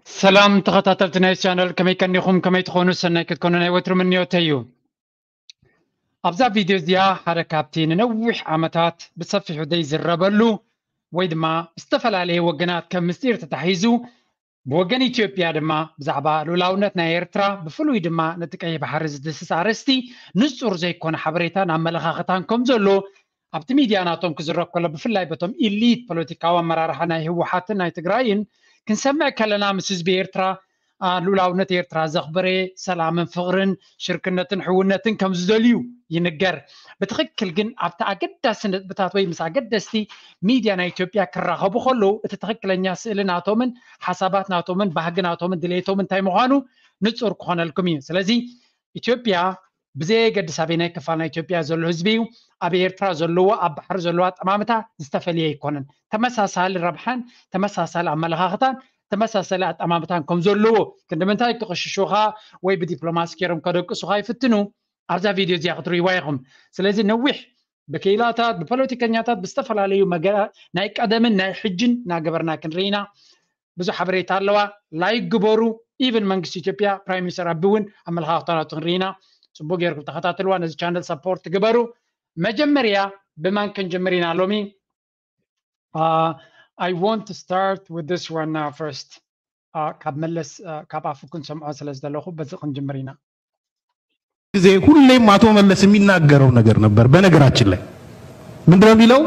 ሰላም ተኸታተልቲ ናይ ቻነል፣ ከመይ ቀኒኹም? ከመይ ትኾኑ? ሰናይ ክትኮኑ ናይ ወትሩ ምንዮተይ እዩ። ኣብዛ ቪድዮ እዚኣ ሓደ ካብቲ ንነዊሕ ዓመታት ብሰፊሑ ዘይዝረበሉ ወይ ድማ ብዝተፈላለየ ወገናት ከም ምስጢር ተታሒዙ፣ ብወገን ኢትዮጵያ ድማ ብዛዕባ ልኡላውነት ናይ ኤርትራ፣ ብፍሉይ ድማ ነቲ ቀይሕ ባሕሪ ዝድህስስ ኣርእስቲ ንጹር ዘይኮነ ሓበሬታን ኣመለኻኽታን ከም ዘሎ ኣብቲ ሚድያ ናቶም ክዝረብ ከሎ፣ ብፍላይ በቶም ኢሊት ፖለቲካዊ ኣመራርሓ ናይ ህወሓትን ናይ ትግራይን ክንሰምዕ ከለና፣ ምስ ህዝቢ ኤርትራ፣ አ፣ ልኡላውነት ኤርትራ ዘኽበረ፣ ሰላምን ፍቕርን ሽርክነትን ሕውነትን ከም ዝደልዩ ይንገር። ብትኽክል ግን ኣብቲ ኣገዳሲ ነጥብታት ወይ ምስ ኣገደስቲ ሚድያ ናይ ኢትዮጵያ ክራኸቡ ከለዉ፣ እቲ ትኽክለኛ ስእሊ ናቶምን ሓሳባት ናቶምን ባህጊ ናቶምን ድሌቶምን እንታይ ምዃኑ ንጹር ክኾነልኩም እዩ። ስለዚ ኢትዮጵያ ብዘየገድስ ኣበየናይ ክፋል ናይ ኢትዮጵያ ዘሎ ህዝቢ እዩ፣ ኣብ ኤርትራ ዘለዎ ኣብ ባሕሪ ዘለዎ ኣጠማምታ ዝተፈልየ ኣይኮነን። ተመሳሳሊ ረብሓን ተመሳሳሊ ኣመለኻኽታን ተመሳሳሊ ኣጠማምታን ከም ዘለዎ፣ ክንዲ ምንታይ ክቕሽሹኻ ወይ ብዲፕሎማሲ ገይሮም ከደቅሱኻ ይፍትኑ፣ ኣብዛ ቪድዮ እዚኣ ክትርእይዋ ኢኹም። ስለዚ ነዊሕ ብክኢላታት፣ ብፖለቲከኛታት፣ ብዝተፈላለዩ መገ-፣ ናይ ቀደምን ናይ ሕጅን እናገበርና ክንርኢ ኢና። ብዙሕ ሓበሬታ ኣለዋ። ላይክ ግበሩ። ኢቨን መንግስቲ ኢትዮጵያ፣ ፕራይም ሚኒስተር ኣቢ እውን ኣመለኻኽታ ናቱ ክንርኢ ኢና። ጽቡቅ ጌርኩም ተኸታተልዋ። ነዚ ቻነል ሰፖርት ግበሩ። መጀመርያ ብማን ክንጅምር ኢና ሎሚ? Uh, I want to start with this one, uh, first. Uh, ካብ መለስ፣ uh፣ ካብ ኣፉ ክንሰምዖ ስለ ዝደለኹ በዚ ክንጅምር ኢና። ጊዜ ሁሌም አቶ መለስ የሚናገረው ነገር ነበር። በነገራችን ላይ ምንድነው የሚለው?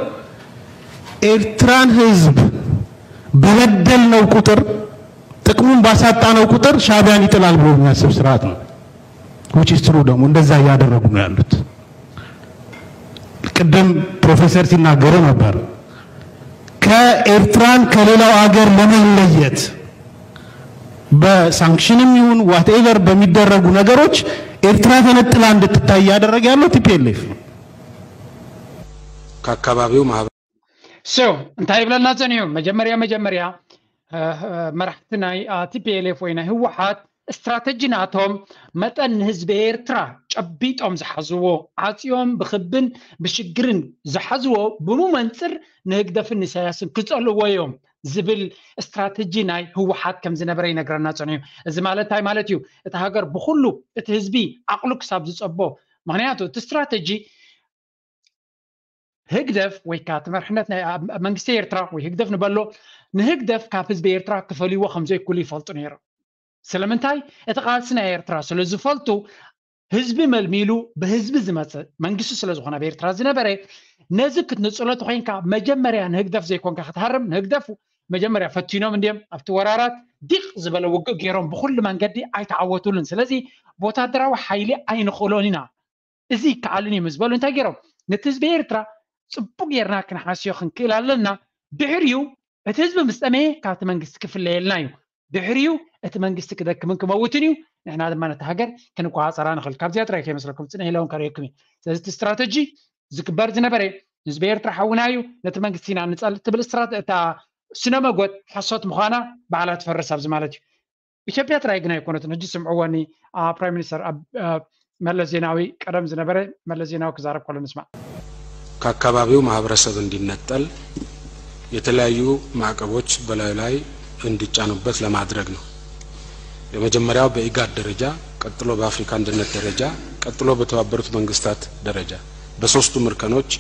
ኤርትራን ህዝብ በበደልነው ቁጥር፣ ጥቅሙን ባሳጣነው ቁጥር ሻዕቢያን ይጥላል ብሎ የሚያስብ ስርዓት ነው። Which is true። ደግሞ እንደዛ እያደረጉ ነው ያሉት። ቅድም ፕሮፌሰር ሲናገሩ ነበር። ከኤርትራን ከሌላው አገር ለመለየት በሳንክሽንም ይሁን ዋትኤቨር በሚደረጉ ነገሮች ኤርትራ ተነጥላ እንድትታይ እያደረገ ያለው ቲ ፒ ኤል ኤፍ ነው። ከአካባቢው ማህበ- So እንታይ ይብለና ጸኒሑ? መጀመርያ መጀመርያ፣ እ፣ እ፣ መራሕቲ ናይ፣ አ፣ ቲ ፒ ኤል ኤፍ ወይ ናይ ህወሓት ስትራተጂ ናቶም መጠን ንህዝቢ ኤርትራ ጨቢጦም ዝሓዝዎ፣ ዓጽዮም ብኽብን ብሽግርን ዝሓዝዎ፣ ብኡ መንጽር ንህግደፍን ንኢሳያስን ክጸልዎ እዮም ዝብል ስትራተጂ ናይ ህወሓት ከም ዝነበረ ይነግረና ጸኒሑ። እዚ ማለት እንታይ ማለት እዩ? እቲ ሃገር ብኹሉ፣ እቲ ህዝቢ ዓቕሉ ክሳብ ዝጸቦ፣ ምኽንያቱ እቲ ስትራተጂ ህግደፍ ወይ ከዓ እቲ መርሕነት ናይ ኣብ መንግስቲ ኤርትራ ወይ ህግደፍ ንበሎ፣ ንህግደፍ ካብ ህዝቢ ኤርትራ ክፈልይዎ ከም ዘይክእሉ ይፈልጡ ነይሮም። ስለምንታይ? እቲ ቃልሲ ናይ ኤርትራ ስለ ዝፈልጡ፣ ህዝቢ መልሚሉ ብህዝቢ ዝመጽእ መንግስቲ ስለ ዝኾነ ኣብ ኤርትራ ዝነበረ፣ ነዚ ክትንጽሎ ተኾይንካ መጀመርያ ንህግደፍ ዘይኮንካ ክትሃርም፣ ንህግደፍ መጀመርያ ፈቲኖም እንድዮም ኣብቲ ወራራት ዲቕ ዝበለ ውግእ ገይሮም ብኹሉ መንገዲ ኣይተዓወቱሉን። ስለዚ ብወታደራዊ ሓይሊ ኣይንኽእሎን ኢና፣ እዚ ይከኣልን እዩ ምስ በሉ እንታይ ገይሮም? ነቲ ህዝቢ ኤርትራ ጽቡቅ ጌርና ክንሓስዮ ክንክእል ኣለና። ድሕሪኡ እቲ ህዝቢ ምስ ጠመየ ካብቲ መንግስቲ ክፍለየልና እዩ። ድሕሪኡ እቲ መንግስቲ ክደክምን ክመውትን እዩ። ንሕና ድማ ነቲ ሃገር ክንቆጻጸራ ንኽእል። ካብዚኣ ጥራይ ከይመስለኩም፣ ጽንሕ ኢለ እውን ከርእየኩም እየ። ስለዚ እቲ ስትራተጂ ዝግበር ዝነበረ ህዝቢ ኤርትራ ሓውና እዩ፣ ነቲ መንግስቲ ኢና ንጸልእ ትብል ስትራተ-፣ እታ ስነ መጎት ሓሶት ምዃና ባዕላ ትፈርስ ኣብዚ ማለት እዩ። ኢትዮጵያ ጥራይ ግን ኣይኮነትን። ሕጂ ስምዕዎ እኒ፣ አ፣ ፕራይም ሚኒስተር ኣብ፣ አ፣ መለስ ዜናዊ ቀደም ዝነበረ መለስ ዜናዊ ክዛረብ ከሎ ንስማዕ። ከአካባቢው ማህበረሰብ እንዲነጠል የተለያዩ ማዕቀቦች በላዩ ላይ እንዲጫኑበት ለማድረግ ነው። የመጀመሪያው በኢጋድ ደረጃ፣ ቀጥሎ በአፍሪካ አንድነት ደረጃ፣ ቀጥሎ በተባበሩት መንግስታት ደረጃ፣ በሶስቱም እርከኖች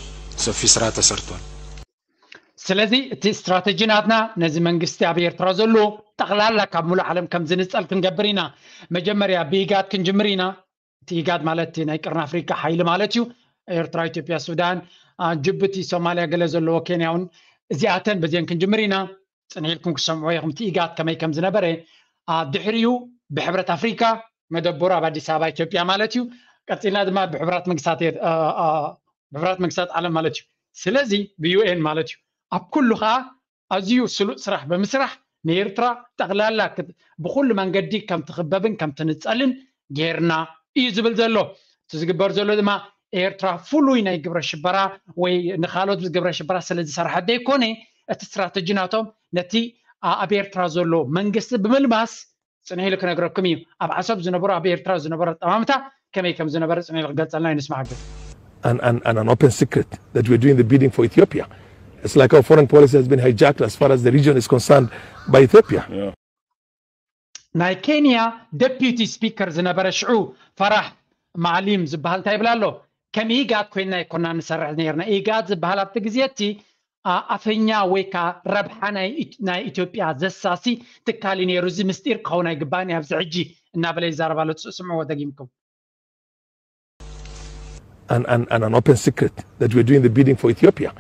ሰፊ ስራ ተሰርቷል። ስለዚ እቲ ስትራተጂ ናትና ነዚ መንግስቲ ኣብ ኤርትራ ዘሎ ጠቕላላ ካብ ሙሉእ ዓለም ከም ዝንጸል ክንገብር ኢና። መጀመርያ ብኢጋድ ክንጅምር ኢና። እቲ ኢጋድ ማለት እቲ ናይ ቀርኒ ኣፍሪካ ሓይሊ ማለት እዩ። ኤርትራ፣ ኢትዮጵያ፣ ሱዳን፣ አ፣ ጅቡቲ፣ ሶማልያ፣ ገለ ዘለዎ፣ ኬንያ እውን፣ እዚኣተን በዚአን ክንጅምር ኢና። ጽንሕ ኢልኩም ክሰምዕዎ ኢኹም እቲ ኢጋድ ከመይ ከም ዝነበረ። አ፣ ድሕሪኡ ብሕብረት ኣፍሪካ፣ መደበሩ ኣብ ኣዲስ ኣበባ ኢትዮጵያ ማለት እዩ። ቀጺልና ድማ ብሕቡራት መንግስታት ኤር-፣ አ፣ አ፣ ብሕቡራት መንግስታት ዓለም ማለት እዩ። ስለዚ ብ ዩ ኤን ማለት እዩ። ኣብ ኩሉ ከዓ ኣዝዩ ስሉጥ ስራሕ ብምስራሕ ንኤርትራ ጠቕላላ ክት-፣ ብኹሉ መንገዲ ከም ትኽበብን ከም ትንጸልን ጌርና እዩ ዝብል ዘሎ። እቲ ዝግበር ዘሎ ድማ ኤርትራ ፍሉይ ናይ ግብረ ሽበራ ወይ ንኻልኦት ግብረ ሽበራ ስለ ዝሰርሐት ዘይኮነ፣ እቲ ስትራተጂ ናቶም ነቲ ኣ-፣ ኣብ ኤርትራ ዘሎ መንግስቲ ብምልማስ ጽንሕ ኢሉ ክነግረኩም እዩ። ኣብ ዓሰብ ዝነበሩ፣ ኣብ ኤርትራ ዝነበሩ ኣጠማምታ ከመይ ከም ዝነበረ ጽንሕ ኢሉ ክገልጸልና እዩ። ንስማዕ ግን። and, and, and an open secret that we're doing the bidding for Ethiopia. It's like our foreign policy has been hijacked as far as the region is concerned by Ethiopia. Yeah. ናይ ኬንያ ደፒቲ ስፒከር ዝነበረ ሽዑ ፈራሕ ማዕሊም ዝበሃል እንታይ ይብል ኣሎ? ከም ኢጋድ ኮይና ኣይኮና ንሰርሕ ነርና። ኢጋድ ዝበሃል ኣብቲ ግዜ እቲ ኣፈኛ ወይ ከዓ ረብሓ ናይ ኢትዮጵያ ዘሳሲ ትካል እዩ ነይሩ። እዚ ምስጢር ክኸውን ኣይግባእን እዩ። ኣብዚ ሕጂ እናበለ ይዛረብ ኣሎ። ስምዕዎ ደጊምኩም። and, and, and an open secret that we're doing the bidding for Ethiopia.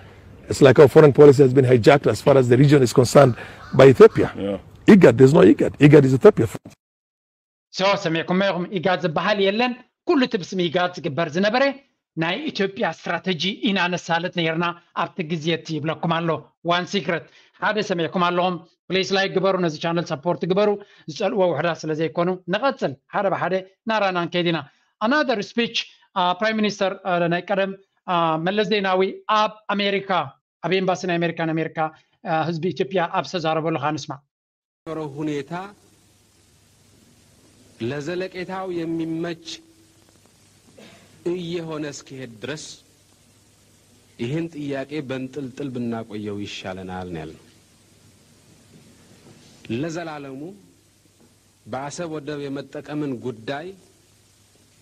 It's like our foreign policy has been hijacked as far as the region is concerned by Ethiopia. Yeah. IGAD, there's no IGAD. IGAD is Ethiopia. So ሰሚዕኩም ኢኹም። ኢጋድ ዝበሃል የለን። ኩሉ እቲ ብስም ኢጋድ ዝግበር ዝነበረ ናይ ኢትዮጵያ ስትራተጂ ኢና ነሳልጥ ነርና ኣብቲ ግዜ እቲ ይብለኩም ኣሎ። One secret ሓደ ሰሚዕኩም ኣለኹም። Please like ግበሩ፣ ነዚ ቻነል ሰፖርት ግበሩ። ዝፀልእዎ ውሕዳት ስለ ዘይኮኑ ንቐፅል ሓደ ብሓደ ናራና ንከይድ ኢና። Another speech ፕራይም ሚኒስተር ናይ ቀደም መለስ ዜናዊ ኣብ ኣሜሪካ ኣብ ኤምባሲ ናይ ኣሜሪካ ንኣሜሪካ ህዝቢ ኢትዮጵያ ኣብ ዝተዛረበሉ ከዓ ንስማዕ። ሁኔታ ለዘለቄታው የሚመች እየሆነ እስኪሄድ ድረስ ይህን ጥያቄ በንጥልጥል ብናቆየው ይሻለናል ነው ያልነው። ለዘላለሙ በአሰብ ወደብ የመጠቀምን ጉዳይ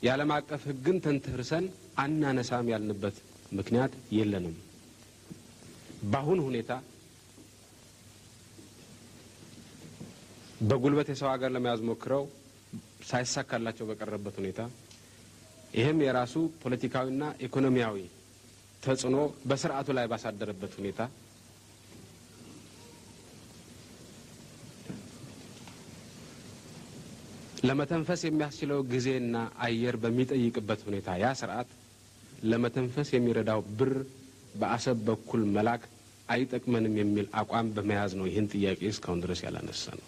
የዓለም አቀፍ ህግን ተንተርሰን አናነሳም ያልንበት ምክንያት የለንም። በአሁን ሁኔታ በጉልበት የሰው ሀገር ለመያዝ ሞክረው ሳይሳካላቸው በቀረበት ሁኔታ ይህም የራሱ ፖለቲካዊና ኢኮኖሚያዊ ተጽዕኖ በስርዓቱ ላይ ባሳደረበት ሁኔታ ለመተንፈስ የሚያስችለው ጊዜና አየር በሚጠይቅበት ሁኔታ ያ ስርዓት ለመተንፈስ የሚረዳው ብር በአሰብ በኩል መላክ አይጠቅመንም የሚል አቋም በመያዝ ነው ይህን ጥያቄ እስካሁን ድረስ ያላነሳነው።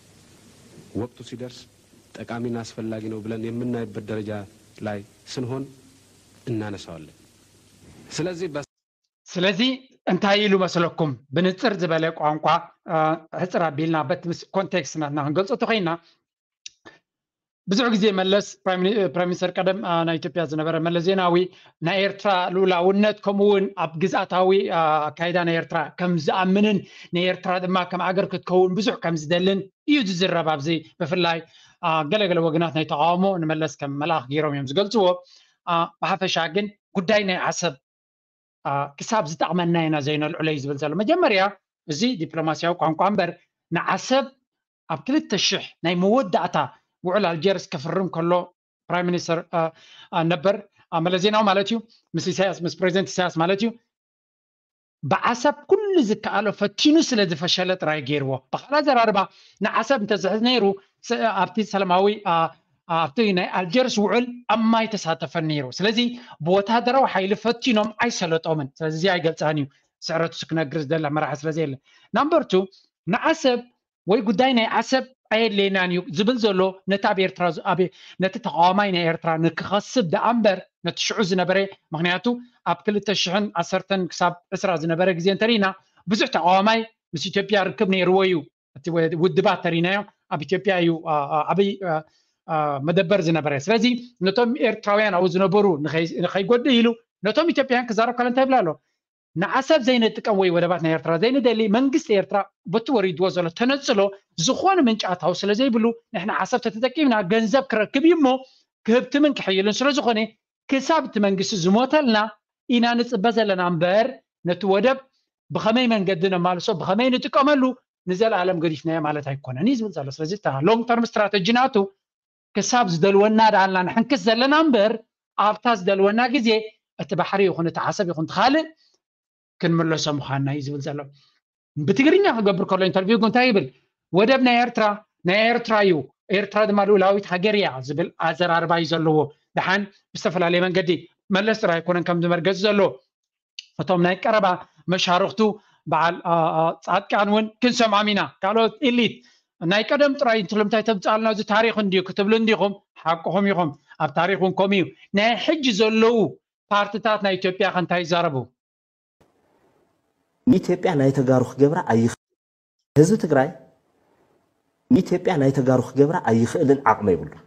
ወቅቱ ሲደርስ ጠቃሚና አስፈላጊ ነው ብለን የምናይበት ደረጃ ላይ ስንሆን እናነሳዋለን። ስለዚህ ስለዚ እንታይ ኢሉ መስለኩም? ብንፅር ዝበለ ቋንቋ ሕፅር ኣቢልና በቲ ምስ ኮንቴክስት ናትና ክንገልፆ ተኮይና ብዙሕ ግዜ መለስ ፕራይም ሚኒስተር ቀደም ናይ ኢትዮጵያ ዝነበረ መለስ ዜናዊ ናይ ኤርትራ ልኡላውነት ከምኡ እውን ኣብ ግዝኣታዊ ኣካይዳ ናይ ኤርትራ ከም ዝኣምንን ንኤርትራ ድማ ከም ኣገር ክትከውን ብዙሕ ከም ዝደልን እዩ ዝዝረብ። ኣብዚ ብፍላይ ገለገለ ወገናት ናይ ተቃውሞ ንመለስ ከም መልኣኽ ገይሮም እዮም ዝገልፅዎ። ብሓፈሻ ግን ጉዳይ ናይ ዓሰብ ክሳብ ዝጠቕመና ኢና ዘይነልዕሎ እዩ ዝብል ዘሎ። መጀመርያ እዚ ዲፕሎማስያዊ ቋንቋ እምበር ንዓሰብ ኣብ ክልተ ሽሕ ናይ መወዳእታ ውዕል ኣልጀርስ ክፍርም ከሎ ፕራይም ሚኒስተር ነበር መለስ ዜናዊ ማለት እዩ ምስ ኢሳያስ ምስ ፕሬዚደንት ኢሳያስ ማለት እዩ ብዓሰብ ኩሉ ዝከኣሎ ፈቲኑ ስለ ዝፈሸለ ጥራይ ገይርዎ። ብኻልእ ኣዘራርባ ንዓሰብ እንተዝሕዝ ነይሩ ኣብቲ ሰላማዊ ኣብቲ ናይ ኣልጀርስ ውዕል ኣብ ማይ ተሳተፈን ነይሩ። ስለዚ ብወታደራዊ ሓይሊ ፈቲኖም ኣይሰለጦምን። ስለዚ እዚ ኣይገልፃን እዩ ስዕረቱ ክነግር ዝደላ መራሒ ስለ ዘየለ ናምበር ቱ ንዓሰብ ወይ ጉዳይ ናይ ዓሰብ ኣየድለየናን እዩ ዝብል ዘሎ ነቲ ኣብ ኤርትራ ነቲ ተቃዋማይ ናይ ኤርትራ ንክኸስብ ደኣ እምበር ነቲ ሽዑ ዝነበረ ምክንያቱ ኣብ ክልተ ሽሕን ዓሰርተን ክሳብ ዕስራ ዝነበረ ግዜ እንተሪእና ብዙሕ ተቃዋማይ ምስ ኢትዮጵያ ርክብ ነይርዎ እዩ። እቲ ውድባት ተሪናዮ ኣብ ኢትዮጵያ እዩ ዓብይ መደበር ዝነበረ። ስለዚ ነቶም ኤርትራውያን ኣብኡ ዝነበሩ ንኸይጎድእ ኢሉ ነቶም ኢትዮጵያውያን ክዛረብ ከሎ እንታይ ይብል ኣሎ? ንዓሰብ ዘይንጥቀም ወይ ወደባት ናይ ኤርትራ ዘይንደሊ መንግስቲ ኤርትራ በቲ ወሪድዎ ዘሎ ተነፅሎ ዝኾነ ምንጪ ኣታዊ ስለ ዘይብሉ ንሕና ዓሰብ ተተጠቂምና ገንዘብ ክረክብ እዩ እሞ ክህብትምን ክሕይልን ስለ ዝኾነ ክሳብ እቲ መንግስቲ ዝሞተልና ኢና ንፅበ ዘለና እምበር ነቲ ወደብ ብኸመይ መንገዲ ነማልሶ ብኸመይ ንጥቀመሉ ንዘለኣለም ገዲፍናዮ ማለት ኣይኮነን እዩ ዝብል ዘሎ። ስለዚ እታ long term strategy ናቱ ክሳብ ዝደልወና ደኣልና ንሕንክስ ዘለና እምበር ኣብታ ዝደልወና ግዜ እቲ ባሕሪ ይኹን እቲ ዓሰብ ይኹን ካልእ ክንምለሶ ምዃንና እዩ ዝብል ዘሎ። ብትግርኛ ክገብር ከሎ ኢንተርቪው እንታይ ይብል? ወደብ ናይ ኤርትራ ናይ ኤርትራ እዩ፣ ኤርትራ ድማ ልኡላዊት ሃገር እያ ዝብል ኣዘራርባ እዩ ዘለዎ። ደሓን ብዝተፈላለየ መንገዲ መለስ ጥራይ ኣይኮነን ከምዚ መርገፂ ዘለዎ። እቶም ናይ ቀረባ መሻርኽቱ በዓል ፃድቃን እውን ክንሰምዖም ኢና። ካልኦት ኢሊት ናይ ቀደም ጥራይ እንትሎም እንታይ ተምፅኣልና እዚ ታሪኽ እንድዩ ክትብሉ እንዲኹም ሓቅኹም ኢኹም። ኣብ ታሪኽ እውን ከምኡ እዩ። ናይ ሕጂ ዘለዉ ፓርትታት ናይ ኢትዮጵያ ከ እንታይ ይዛረቡ? ንኢትዮጵያ ናይ ተጋሩ ክገብራ ኣይኽእልን። ህዝቢ ትግራይ ንኢትዮጵያ ናይ ተጋሩ ክገብራ ኣይኽእልን፣ ዓቕሚ የብሉን።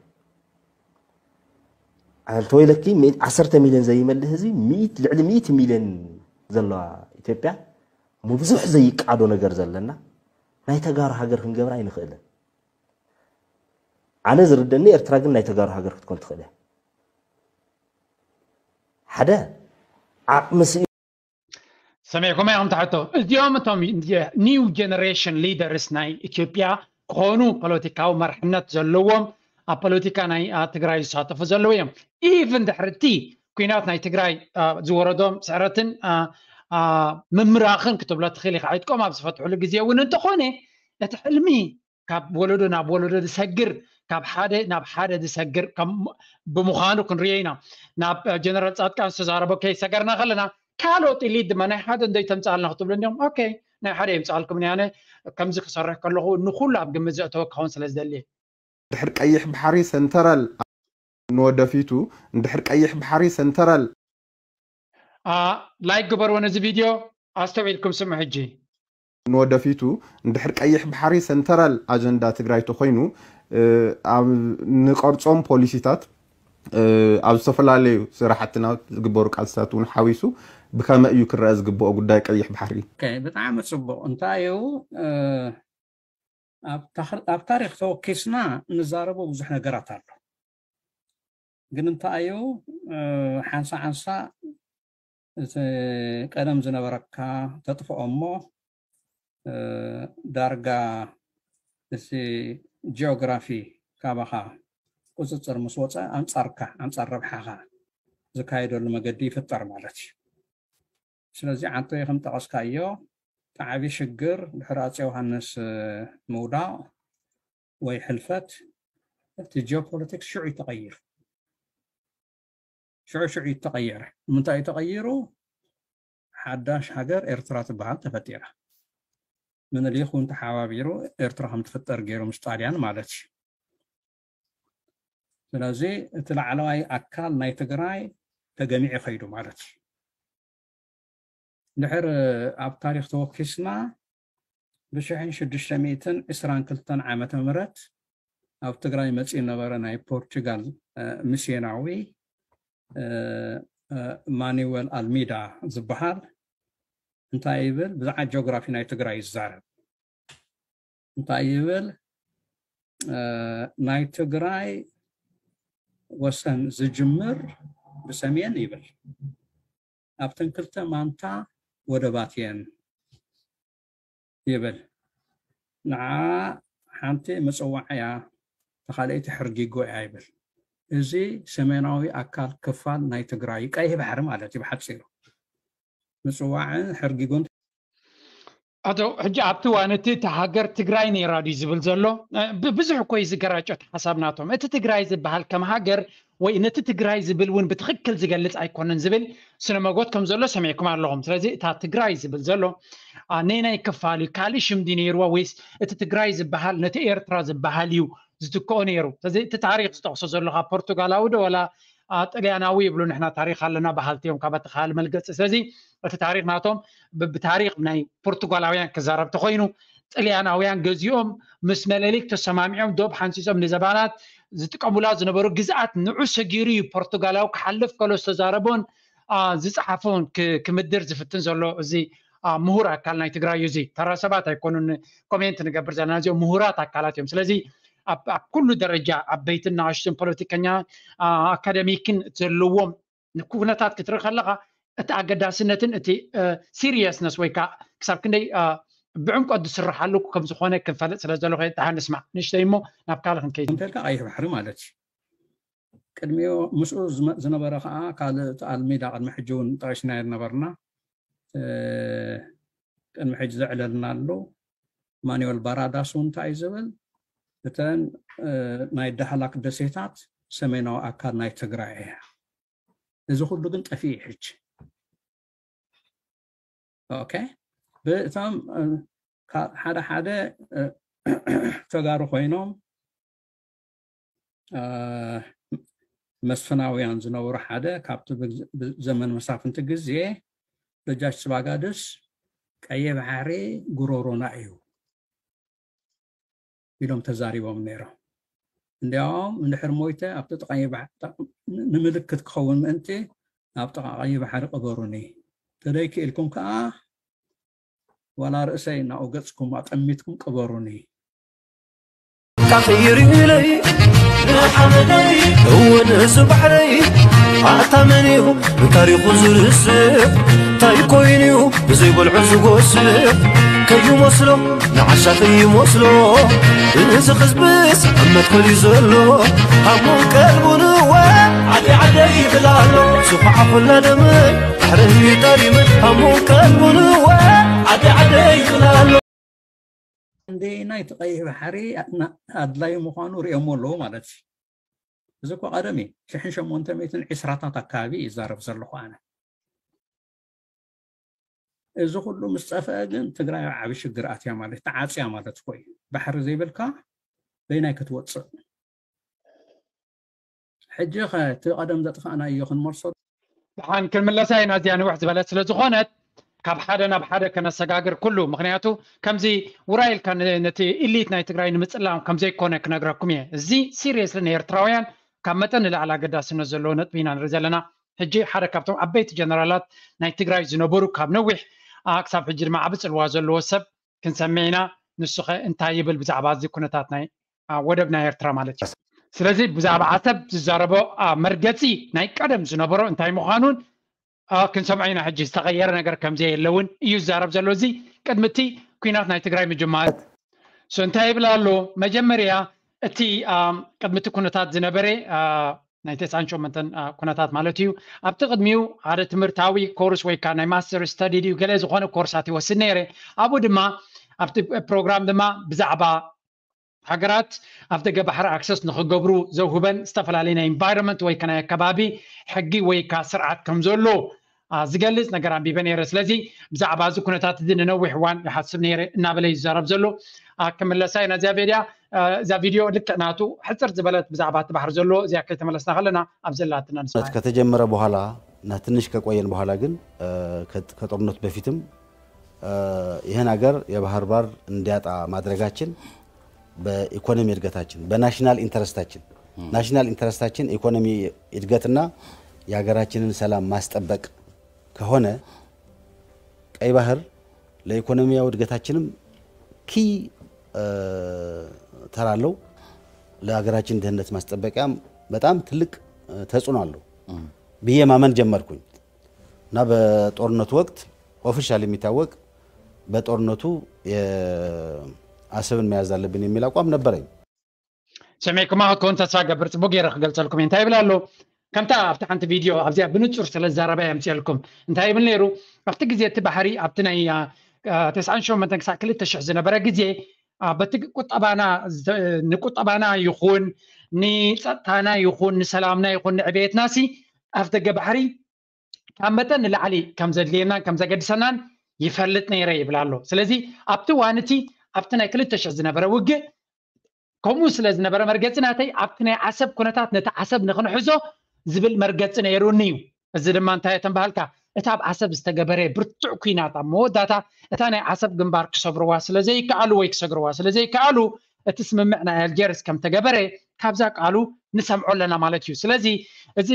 ኣንተ ወይለኪ ዓሰርተ ሚልዮን ዘይመልእ ህዝቢ ልዕሊ ሚእቲ ሚልዮን ዘለዋ ኢትዮጵያ ምብዙሕ ዘይቃዶ ነገር ዘለና ናይ ተጋሩ ሃገር ክንገብራ ኣይንኽእልን። ኣነ ዝርደኒ ኤርትራ ግን ናይ ተጋሩ ሃገር ክትኮን ትኽእል እያ። ሓደ ዓቕሚ ስኢኑ ሰሚዕኩም ኢኹም ትሕቶ። እዚኦም እቶም new generation leaders ናይ ኢትዮጵያ ክኾኑ ፖለቲካዊ መርሕነት ዘለዎም ኣብ ፖለቲካ ናይ ትግራይ ዝሳተፉ ዘለዉ እዮም። ኢቭን ድሕርቲ ኩናት ናይ ትግራይ ዝወረዶም ስዕረትን ምምራኽን ክትብሎ ትኽእል ኢኻ። ዕጥቆም ኣብ ዝፈትሕሉ ግዜ እውን እንተኾነ እቲ ሕልሚ ካብ ወለዶ ናብ ወለዶ ዝሰግር ካብ ሓደ ናብ ሓደ ዝሰግር ብምዃኑ ክንሪኦ ኢና። ናብ ጀነራል ፃድቃን ዝተዛረቦ ከይሰገርና ከለና ካልኦት ኢሊት ድማ ናይ ሓደ እንደይ ተምፃልና ክትብሉ እንዲም ኦኬ ናይ ሓደ የምፃልኩም ያነ ከምዚ ክሰርሕ ከለኹ ንኩሉ ኣብ ግምት ዘእተወ ክኸውን ስለ ዝደሊ ድሕር ቀይሕ ባሕሪ ሰንተራል ንወደፊቱ እንድሕር ቀይሕ ባሕሪ ሰንተራል ላይክ ግበርዎ ነዚ ቪድዮ ኣስተውዒልኩም ስሙ ሕጂ ንወደፊቱ እንድሕር ቀይሕ ባሕሪ ሰንተራል ኣጀንዳ ትግራይ ተኮይኑ ንቀርፆም ፖሊሲታት ኣብ ዝተፈላለዩ ስራሕትና ዝግበሩ ቃልስታት እውን ሓዊሱ ብከመ እዩ ክረአ ዝግብኦ ጉዳይ ቀይሕ ባሕሪ ብጣዕሚ ፅቡቅ እንታይ እዩ ኣብ ታሪክ ተወኪስና ንዛረቦ ብዙሕ ነገራት ኣሎ ግን እንታይ እዩ ሓንሳ ሓንሳ እቲ ቀደም ዝነበረካ ተጥፍኦ እሞ ዳርጋ እቲ ጂኦግራፊ ካባኻ ቁፅፅር ምስ ወፀ ኣንፃርካ ኣንፃር ረብሓኻ ዝካየደሉ መገዲ ይፍጠር ማለት እዩ ስለዚ ዓንቶ ከም ጠቐስካዮ ጣዕቢ ሽግር ድሕሪ ኣፀ ዮሃንስ ምውዳቕ ወይ ሕልፈት እቲ ጂኦፖለቲክስ ሽዑ ተቐይሩ ሽዑ ሽዑ ተቐየረ ንምንታይ ተቐይሩ ሓዳሽ ሃገር ኤርትራ ትበሃል ተፈጢራ ምንሊክ እውን ተሓባቢሩ ኤርትራ ከም ትፍጠር ገይሩ ምስ ጣልያን ማለት እዩ ስለዚ እቲ ላዕለዋይ ኣካል ናይ ትግራይ ተገሚዑ ከይዱ ማለት እዩ ድሕር ኣብ ታሪክ ተወኪስና ብሽሕን ሽዱሽተ ሚእትን ዕስራን ክልተን ዓመተ ምህረት ኣብ ትግራይ መፂኡ ነበረ ናይ ፖርቹጋል ሚስዮናዊ ማኑዌል ኣልሚዳ ዝበሃል እንታይ ይብል ብዛዕባ ጂኦግራፊ ናይ ትግራይ ይዛረብ እንታይ ይብል ናይ ትግራይ ወሰን ዝጅምር ብሰሜን ይብል ኣብተን ክልተ ማንታ ወደባት እየን ይብል ንዓ ሓንቲ ምፅዋዕ እያ ተካልአይቲ ሕርጊጎ እያ ይብል እዚ ሰሜናዊ ኣካል ክፋል ናይ ትግራይ ቀይሕ ባሕሪ ማለት እዩ ብሓፂሩ ምፅዋዕን ሕርጊጎን ኣቶ ሕጂ ኣብቲ ዋን እቲ እቲ ሃገር ትግራይ ነይራ ድዩ ዝብል ዘሎ ብዙሕ እኮ እዩ ዝገራጨት ሓሳብ ናቶም እቲ ትግራይ ዝበሃል ከም ሃገር ወይ ነቲ ትግራይ ዝብል እውን ብትኽክል ዝገልፅ ኣይኮነን ዝብል ስነ መጎት ከም ዘሎ ሰሚዕኩም ኣለኹም ስለዚ እታ ትግራይ ዝብል ዘሎ ነናይ ክፋል እዩ ካልእ ሽም ድዩ ነይርዋ ወይስ እቲ ትግራይ ዝበሃል ነቲ ኤርትራ ዝበሃል እዩ ዝትክኦ ነይሩ ስለዚ እቲ ታሪክ ዝጠቕሶ ዘሎ ካብ ፖርቱጋላዊ ዶ ወላ ጥልያናዊ ይብሉ ንሕና ታሪክ ኣለና በሃልቲ እዮም ካብ ኣተኻል መልገፂ ስለዚ እቲ ታሪክ ናቶም ብታሪክ ናይ ፖርቱጋላውያን ክዛረብ ተኮይኑ ጥልያናውያን ገዚኦም ምስ መለሊክ ተሰማሚዖም ዶብ ሓንሲሶም ንዘባናት ዝጥቀሙላ ዝነበሩ ግዝኣት ንዑ ሰጊሩ እዩ ፖርቱጋላዊ ክሓልፍ ከሎ ዝተዛረቦን ዝፀሓፎን ክምድር ዝፍትን ዘሎ እዚ ምሁር ኣካል ናይ ትግራይ እዩ እዚ ተራ ሰባት ኣይኮኑን ኮሜንት ንገብር ዘለና እዚኦም ምሁራት ኣካላት እዮም ስለዚ ኣብ ኩሉ ደረጃ ዓበይትን ንኣሽቱን ፖለቲከኛ ኣካደሚክን ዘለዎም ኩነታት ክትርኢ ከለካ እቲ ኣገዳስነትን እቲ ሲሪየስነስ ወይ ከዓ ክሳብ ክንደይ ብዕምቆት ዝስርሓሉ ከም ዝኾነ ክንፈልጥ ስለ ዘለኹ ደሓን ንስማዕ ንእሽተይ እሞ ናብ ካልእ ክንከይድ እንተልካ ቀይሕ ባሕሪ ማለት እዩ ቅድሚኡ ምስኡ ዝነበረ ከዓ ካልእ ኣልሚዳ ቅድሚ ሕጂ እውን ጠቂስናዮ ነበርና ቅድሚ ሕጂ ዘዕለልና ኣሎ ማኑኤል ባራዳስ እውን እንታይ ዝብል እተን ናይ ዳህላክ ደሴታት ሰሜናዊ ኣካል ናይ ትግራይ እያ እዚ ኩሉ ግን ጠፊኡ ሕጂ ኦኬ ብእቶም ሓደ ሓደ ተጋሩ ኮይኖም መስፍናውያን ዝነበሩ ሓደ ካብቲ ዘመን መሳፍንቲ ግዜ ደጃች ስባጋድስ ቀየ ባሕሪ ጉሮሮና እዩ ኢሎም ተዛሪቦም ነይሮም እንዲያውም እንድሕር ሞይተ ኣብቲ ጥቃ ንምልክት ክኸውን ምእንቲ ኣብ ጥቃ ቀይ ባሕሪ ቅበሩኒ ተደይ ክኢልኩም ከዓ ዋላ ርእሰይ እናኡ ገጽኩም ኣጠሚትኩም ቅበሩኒ ካኺርለይ ሓመደይ እውን እዚ ባሕረይ ኣታ መን እዩ ንታሪኹ ዝርስዕ እንታይ ኮይኑ እዩ ብዘይበልዑ ዝጎስዕ ከይመስሎ ንዓሻ ከይመስሎ እዚ ህዝብስ ኣብ መትከል እዩ ዘሎ ሃሙን ቀልቡን እወ ዓደይ ዓደይ ይብል ኣሎ ዝኹዓ ኩላ ደመ ባሕረይ ጠሪመ ሃሙን ቀልቡን እወ ዓደይ ዓደይ ይብል ኣሎ ክንደየናይ እቲ ቀይሕ ባሕሪ ኣድላዪ ምዃኑ ርእዮሞ ኣለዉ ማለት እዩ። እዚ እኮ ቀደም እዩ። ሽሕን ሸሞንተ ሚእትን ዕስራታት ኣካባቢ ይዛረብ ዘለኹ ኣነ። እዚ ኩሉ ምስ ጠፍአ ግን ትግራይ ኣብ ዓቢ ሽግር ኣትያ ማለት ተዓፅያ ማለት እኮ እዩ። ባሕሪ ዘይብልካ በይናይ ክትወፅእ ሕጂ ኸ እቲ ቀደም ዘጥፋእናዮ ክንመልሶ ደሓን ክንምለሳ ኢና እዚኣ ንውሕ ዝበለት ስለ ዝኾነት ካብ ሓደ ናብ ሓደ ከነሰጋግር ኩሉ ምክንያቱ ከምዚ ውራይ ኢልካ ነቲ ኢሊት ናይ ትግራይ ንምፅላም ከምዘይኮነ ክነግረኩም እየ እዚ ሲሪየስሊ ንኤርትራውያን ካብ መጠን ንላዕሊ ኣገዳስነት ዘለዎ ነጥቢ ኢና ንርኢ ዘለና ሕጂ ሓደ ካብቶም ዓበይቲ ጀነራላት ናይ ትግራይ ዝነበሩ ካብ ነዊሕ ክሳብ ሕጂ ድማ ዓቢ ፅልዋ ዘለዎ ሰብ ክንሰምዕ ኢና ንሱ ኸ እንታይ ይብል ብዛዕባ እዚ ኩነታት ናይ ወደብ ናይ ኤርትራ ማለት እዩ ስለዚ ብዛዕባ ዓሰብ ዝዛረቦ መርገፂ ናይ ቀደም ዝነበሮ እንታይ ምዃኑን ክንሰምዖ ኢና ሕጂ ዝተቐየረ ነገር ከምዘየለ እውን እዩ ዝዛረብ ዘሎ እዚ ቅድሚ እቲ ኩናት ናይ ትግራይ ምጅማር እንታይ ይብል ኣሎ መጀመርያ እቲ ቅድሚ እቲ ኩነታት ዝነበረ ናይ ተስዓን ሸሞንተን ኩነታት ማለት እዩ ኣብቲ ቅድሚኡ ሓደ ትምህርታዊ ኮርስ ወይ ከዓ ናይ ማስተር ስተዲ ድዩ ገለ ዝኾነ ኮርሳት ይወስድ ነይረ ኣብኡ ድማ ኣብቲ ፕሮግራም ድማ ብዛዕባ ሃገራት ኣብ ደገ ባሕሪ ኣክሰስ ንክገብሩ ዘውህበን ዝተፈላለዩ ናይ ኢንቫይሮንመንት ወይ ናይ ኣከባቢ ሕጊ ወይ ካ ስርዓት ከም ዘሎ ዝገልፅ ነገር ኣንቢበ ነይረ ስለዚ ብዛዕባ እዚ ኩነታት እዚ ንነዊሕ እዋን ይሓስብ ነይረ እናበለ ይዛረብ ዘሎ ክምለሳ ኢና እዚኣ ቪድያ እዛ ቪድዮ ልክዕ ናቱ ሕፅር ዝበለት ብዛዕባ እቲ ባሕሪ ዘሎ እዚኣ ከይተመለስና ከለና ኣብ ዘላትና ንስማ ከተጀመረ በኋላ እና ትንሽ ከቆየን በኋላ ግን ከጦርነቱ በፊትም ይህን ሀገር የባህር ባር እንዲያጣ ማድረጋችን በኢኮኖሚ እድገታችን በናሽናል ኢንተረስታችን ናሽናል ኢንተረስታችን ኢኮኖሚ እድገትና የሀገራችንን ሰላም ማስጠበቅ ከሆነ ቀይ ባህር ለኢኮኖሚያዊ እድገታችንም ኪ ተራ አለው። ለሀገራችን ድህነት ማስጠበቂያም በጣም ትልቅ ተጽዕኖ አለው ብዬ ማመን ጀመርኩኝ እና በጦርነቱ ወቅት ኦፊሻል የሚታወቅ በጦርነቱ አሰብን መያዝ አለብን የሚል አቋም ነበረኝ። ሰሚዕኩማ ክትከውን ተስፋ ገብር ፅቡቅ ገይረ ክገልፀልኩም እየ እንታይ ይብል ኣሎ ከምታ ኣብቲ ሓንቲ ቪድዮ ኣብዚኣ ብንፁር ስለ ዝዛረባ የምፅየልኩም እንታይ ይብል ነይሩ ኣብቲ ግዜ እቲ ባሕሪ ኣብቲ ናይ ተስዓን ሸሞንተን ክሳዕ ክልተ ሽሕ ዝነበረ ግዜ በቲ ቁጠባና ንቁጠባና ይኹን ንፀጥታና ይኹን ንሰላምና ይኹን ንዕቤትና ሲ ኣፍ ደገ ባሕሪ ካብ መጠን ንላዕሊ ከም ዘድልየናን ከም ዘገድሰናን ይፈልጥ ነይረ ይብል ኣሎ ስለዚ ኣብቲ ዋን እቲ ኣብቲ ናይ ክልተ ሽሕ ዝነበረ ውግእ ከምኡ ስለ ዝነበረ መርገፂ ናተይ ኣብቲ ናይ ዓሰብ ኩነታት ነቲ ዓሰብ ንክንሕዞ ዝብል መርገፂ ነይሩኒ እዩ እዚ ድማ እንታይ ተንባሃልካ እቲ ኣብ ዓሰብ ዝተገበረ ብርቱዕ ኩናት ኣብ መወዳታ እታ ናይ ዓሰብ ግንባር ክሰብርዋ ስለ ዘይከኣሉ ወይ ክሰግርዋ ስለ ዘይከኣሉ እቲ ስምምዕ ናይ ኣልጀርስ ከም ተገበረ ካብዛ ቃሉ ንሰምዖ ኣለና ማለት እዩ ስለዚ እዚ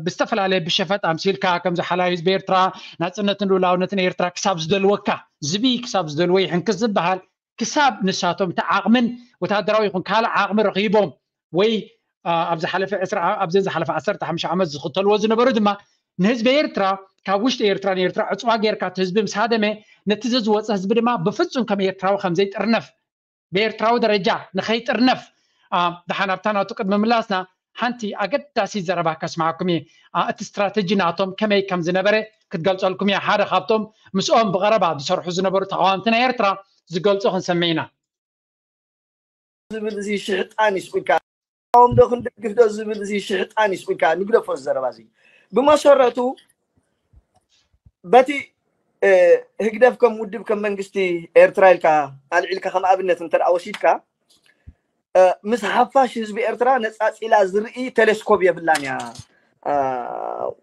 ብዝተፈላለየ ብሸፈጥ ኣምሲልካ ከምዚ ሓላዊ ህዝቢ ኤርትራ ናፅነትን ልኡላውነትን ኤርትራ ክሳብ ዝደልወካ ዝብኢ ክሳብ ዝደልዎ ይሕንክስ ዝበሃል ክሳብ ንሳቶም እቲ ዓቕምን ወታደራዊ ይኹን ካልእ ዓቕሚ ረኺቦም ወይ ኣብ ዝሓለፈ ኣብዘን ዝሓለፈ ዓሰርተ ሓሙሽተ ዓመት ዝኽተልዎ ዝነበሩ ድማ ንህዝቢ ኤርትራ ካብ ውሽጢ ኤርትራ ንኤርትራ ዕፅዋ ጌርካ እቲ ህዝቢ ምስ ሃደመ ነቲ ዘዝወፀ ህዝቢ ድማ ብፍፁም ከም ኤርትራዊ ከም ዘይጥርነፍ ብኤርትራዊ ደረጃ ንኸይጥርነፍ ደሓን ኣብታ ናቱ ቅድሚ ምላስና ሓንቲ ኣገዳሲት ዘረባ ከስምዓኩም እየ እቲ ስትራተጂ ናቶም ከመይ ከም ዝነበረ ክትገልፀልኩም እየ ሓደ ካብቶም ምስኦም ብቐረባ ዝሰርሑ ዝነበሩ ተቃዋምቲ ናይ ኤርትራ ዝገልፆ ክንሰምዕ ኢና ዝብል እዚ ሽሕጣን ይስቁልካ ቃወም ዶ ክንደግፍ ዶ ዝብል እዚ ሽሕጣን ይስቁልካ ንግደፎ ዘረባ እዚ ብመሰረቱ በቲ ህግደፍ ከም ውድብ ከም መንግስቲ ኤርትራ ኢልካ ኣልዒልካ ከም ኣብነት እንተ ወሲድካ ምስ ሓፋሽ ህዝቢ ኤርትራ ነፃፂላ ዝርኢ ቴሌስኮፕ የብላን እያ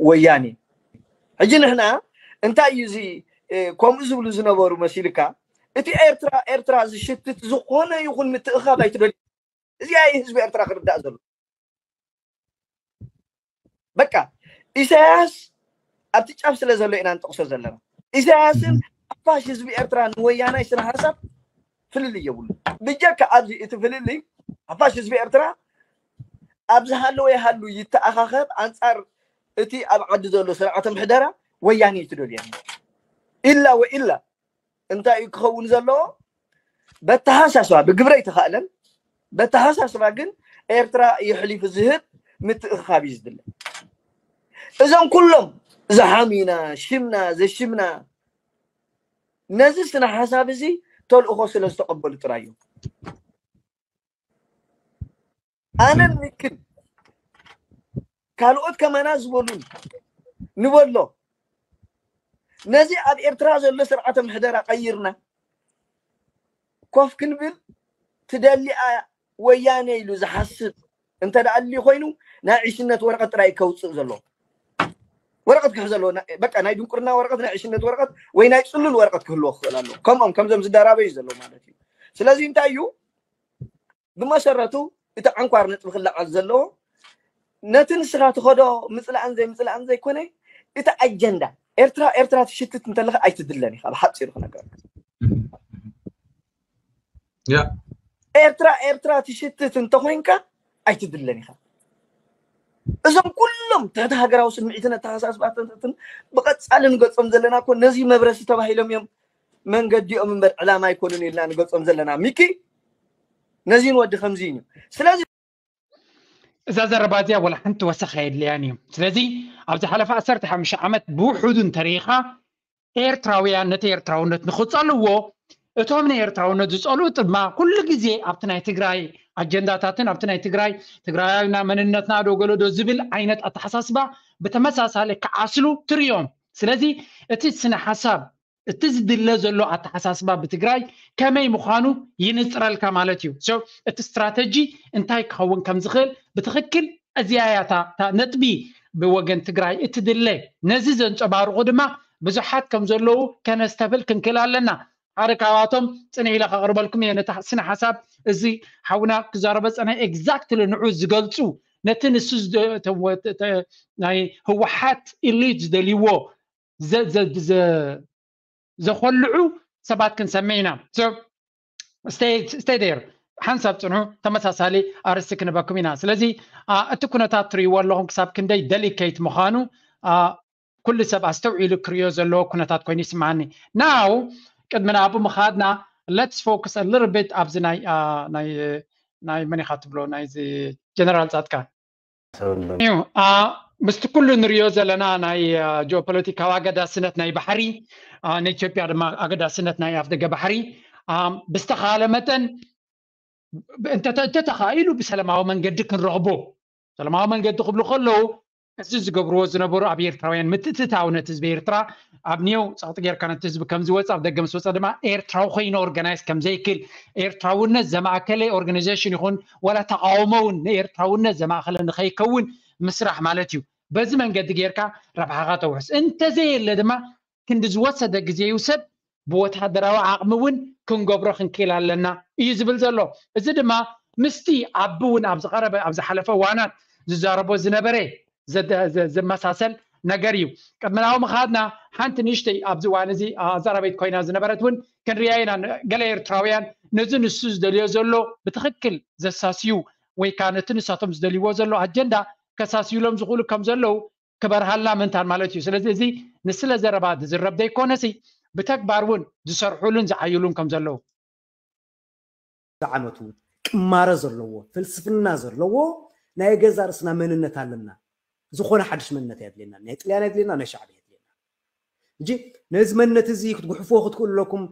ወያኔ ሕጂ ንሕና እንታይ እዩ እዚ ከምኡ ዝብሉ ዝነበሩ መሲልካ እቲ ኤርትራ ኤርትራ ዝሽትት ዝኾነ ይኹን ምትእኻብ ኣይትደልዩ እዚኣ እዩ ህዝቢ ኤርትራ ክርዳእ ዘሎ በቃ ኢሳያስ ኣብቲ ጫፍ ስለ ዘሎ ኢና ንጠቕሶ ዘለና ኢሳያስን ሓፋሽ ህዝቢ ኤርትራ ንወያናይ ስነ ሓሳብ ፍልልይ የብሉ ብጀካ ኣብዚ እቲ ፍልልይ ሓፋሽ ህዝቢ ኤርትራ ኣብ ዝሃለወ ይሃሉ ይተኣኻኸብ ኣንጻር እቲ ኣብ ዓዲ ዘሎ ስርዓተ ምሕደራ ወያነ እዩ ትደልዮ። ኢላ ወኢላ እንታይ እዩ ክኸውን ዘለዎ? በተሓሳስባ ብግብረ ኣይተኻእለን። በተሓሳስባ ግን ኤርትራ የሕሊፉ ዝህብ ምትእኽኻብ እዩ ዝድለ። እዞም ኩሎም ዝሓሙና ሽምና ዘሽምና ነዚ ስነ ሓሳብ እዚ ተልእኾ ስለ ዝተቐበሉ ጥራይ እዮም። ኣነን ሚክን ካልኦት ከማና ዝበሉን ንበሎ ነዚ ኣብ ኤርትራ ዘሎ ስርዓተ ምሕደራ ቀይርና ኮፍ ክንብል ትደሊኣ ወያነ ኢሉ ዝሓስብ እንተ ደኣ ኣልዩ ኮይኑ ናይ ዕሽነት ወረቐት ጥራይ ከውፅእ ዘለዎ ወረቐት ክሕዘ ኣለዎ። በቃ ናይ ድንቁርና ወረቐት፣ ናይ ዕሽነት ወረቐት ወይ ናይ ፅሉል ወረቐት ክህልዎ ክኽእል ኣለዎ። ከምኦም ከምዞም ዝደራበዩ ዘለዉ ማለት እዩ። ስለዚ እንታይ እዩ ብመሰረቱ እቲ ዓንኳር ነጥቢ ክለዓል ዘለዎ ነቲ ንስኻ ትኸዶ ምፅላእን ዘይምፅላእን ዘይኮነ እቲ ኣጀንዳ ኤርትራ ኤርትራ ትሽትት እንተለኻ ኣይትድለን ኢኻ። ብሓፂሩ ክነገር ያ ኤርትራ ኤርትራ ትሽትት እንተኮይንካ ኣይትድለን ኢኻ። እዞም ኩሎም ትሕቲ ሃገራዊ ስምዒትን ኣተሓሳስባትን ብቐጻሊ ንገጾም ዘለና እኮ ነዚ መብረሲ ተባሂሎም እዮም መንገዲኦም እምበር ዕላማ ኣይኮኑን ኢልና ንገጾም ዘለና። ሚኪ ነዚ ንወዲ ከምዚ እዩ። ስለዚ እዛ ዘረባ እዚኣ ወላ ሓንቲ ወሰኽ ኣየድልያን እዩ። ስለዚ ኣብ ዝሓለፈ ዓሰርተ ሓሙሽተ ዓመት ብውሑዱ እንተሪኢኻ ኤርትራውያን ነቲ ኤርትራውነት ንኽጸልዎ እቶም ንኤርትራውነት ዝጸልኡ ድማ ኩሉ ግዜ ኣብቲ ናይ ትግራይ ኣጀንዳታትን ኣብቲ ናይ ትግራይ ትግራይና መንነትና ዶ ገለዶ ዝብል ዓይነት ኣተሓሳስባ ብተመሳሳሊ ክዓስሉ ትርእዮም። ስለዚ እቲ ስነ ሓሳብ እቲ ዝድለ ዘሎ ኣተሓሳስባ ብትግራይ ከመይ ምዃኑ ይንፅረልካ ማለት እዩ። So እቲ ስትራተጂ እንታይ ክኸውን ከም ዝኽእል ብትኽክል እዚኣ እያ እታ እታ ነጥቢ ብወገን ትግራይ እትድለ። ነዚ ዘንፀባርቑ ድማ ብዙሓት ከም ዘለዉ ከነስተብል ክንክእል ኣለና። ሓደ ካብኣቶም ፅንሕ ኢለ ከቕርበልኩም እየ ነቲ ስነ ሓሳብ እዚ ሓውና ክዛረበ ፀንሐ exactly ንዑ ዝገልፁ ነቲ ንሱ ዝደ- ተ- ወ- ተ- ናይ ህወሓት ኢሊት ዝደልይዎ ዘ- ዘ- ዘ- ዘኾልዑ ሰባት ክንሰምዕ ኢና። So stay stay there ሓንሳብ ፅንሑ ተመሳሳሊ ኣርእስቲ ክንበኩም ኢና። ስለዚ አ፣ እቲ ኩነታት ትርእይዎ ኣለኹም ክሳብ ክንደይ ደሊኬት ምዃኑ አ፣ ኩሉ ሰብ ኣስተውዒሉ ክርእዮ ዘለዎ ኩነታት ኮይኑ ይስምዓኒ። ናው ቅድሚ ናብኡ ምኻድና let's focus a little bit ኣብዚ ናይ አ፣ ናይ ናይ መን ኢኻ ትብሎ ናይዚ ጀነራል ፃድቃን እዩ አ፣ ምስቲ ኩሉ ንሪኦ ዘለና ናይ አ፣ ጂኦፖለቲካዊ ኣገዳስነት ናይ ባሕሪ አ፣ ንኢትዮጵያ ድማ ኣገዳስነት ናይ ኣፍደገ ባሕሪ አ፣ ብዝተኻለ መጠን እንተተ- እንተተኻኢሉ ብሰላማዊ መንገዲ ክንረኽቦ ሰላማዊ መንገዲ ክብሉ ከለዉ እዚ ዝገብርዎ ዝነበሩ ኣብ ኤርትራውያን ምትእትታው ነቲ ህዝቢ ኤርትራ ኣብ ኒው ፀቕጢ ጌርካ ነቲ ህዝቢ ከም ዝወፅ ኣብ ደገ ምስ ወፀ ድማ ኤርትራዊ ኮይኑ ኦርጋናይዝ ከም ዘይክል ኤርትራውነት ዘማእከለ ኦርጋናይዜሽን ይኹን ዋላ ተቃውሞ እውን ንኤርትራውነት ዘማእከለ ንኸይከውን ምስራሕ ማለት እዩ። በዚ መንገዲ ጌርካ ረብሓኻ ተውሕስ። እንተዘየለ ድማ ክንዲ ዝወሰደ ግዜ ይውሰድ ብወታደራዊ ዓቕሚ እውን ክንገብሮ ክንክእል ኣለና እዩ ዝብል ዘሎ። እዚ ድማ ምስቲ ኣቢ እውን ኣብ ዝቐረበ ኣብ ዝሓለፈ እዋናት ዝዛረቦ ዝነበረ ዘመሳሰል ነገር እዩ። ቅድሚ ናብኡ ምኻድና ሓንቲ ንእሽተይ ኣብዚ እዋን እዚ ኣዛራቢት ኮይና ዝነበረት እውን ክንሪኣ ኢና። ገለ ኤርትራውያን ነዚ ንሱ ዝደልዮ ዘሎ ብትኽክል ዘሳስዩ ወይ ከዓ ነቲ ንሳቶም ዝደልይዎ ዘሎ ኣጀንዳ ከሳስዩሎም ዝኽእሉ ከም ዘለዉ ክበርሃልና ምንታን ማለት እዩ። ስለዚ እዚ ንስለ ዘረባ ዝዝረብ ዘይኮነሲ ብተግባር እውን ዝሰርሑሉን ዝዓይሉን ከም ዘለዉ ዓመቱ ቅማረ ዘለዎ ፍልስፍና ዘለዎ ናይ ገዛ ርእስና መንነት ኣለና። ዝኾነ ሓድሽ መንነት ኣየድልየና። ናይ ጥልያን ኣየድልየና፣ ናይ ሻዕብያ ኣየድልየና። እንጂ ነዚ መንነት እዚ ክትጉሕፍዎ ክትክእሉ ኣለኩም።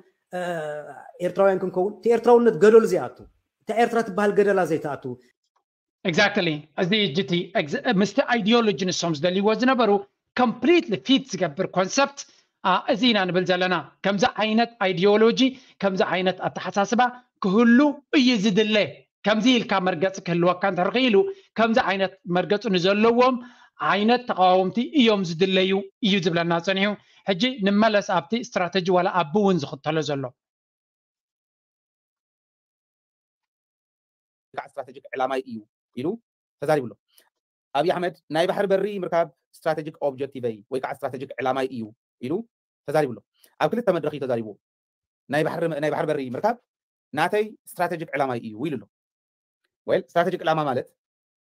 ኤርትራውያን ክንከውን እቲ ኤርትራውነት ገደሉ ዘይኣቱ እታ ኤርትራ ትበሃል ገደላ ዘይተኣቱ exactly እዚ ጅቲ ምስቲ ኣይዲዮሎጂ ንሶም ዝደልይዎ ዝነበሩ completely fit ዝገብር ኮንሰፕት እዚ ኢና ንብል ዘለና። ከምዚ ዓይነት ኣይዲዮሎጂ ከምዚ ዓይነት ኣተሓሳስባ ክህሉ እዩ ዝድለ። ከምዚ ኢልካ መርገፂ ክህልወካ እንተርክኢሉ ከምዚ ዓይነት መርገፂ ንዘለዎም ዓይነት ተቃወምቲ እዮም ዝድለዩ እዩ ዝብለና ፀኒሑ። ሕጂ ንመለስ ኣብቲ ስትራተጂ ዋላ ኣቢ እውን ዝኽተሎ ዘሎ ከዓ ስትራቴጂክ ዕላማይ እዩ ኢሉ ተዛሪቡ ኣሎ። ኣብይ ኣሕመድ ናይ ባሕሪ በሪ ምርካብ ስትራቴጂክ ኦብጀክቲቨይ ወይ ከዓ ስትራቴጂክ ዕላማይ እዩ ኢሉ ተዛሪቡ ኣሎ። ኣብ ክልተ መድረክ እዩ ተዛሪብዎ። ናይ ባሕሪ ናይ ባሕሪ በሪ ምርካብ ናተይ ስትራቴጂክ ዕላማይ እዩ ኢሉ ኣሎ። ወይ ስትራቴጂክ ዕላማ ማለት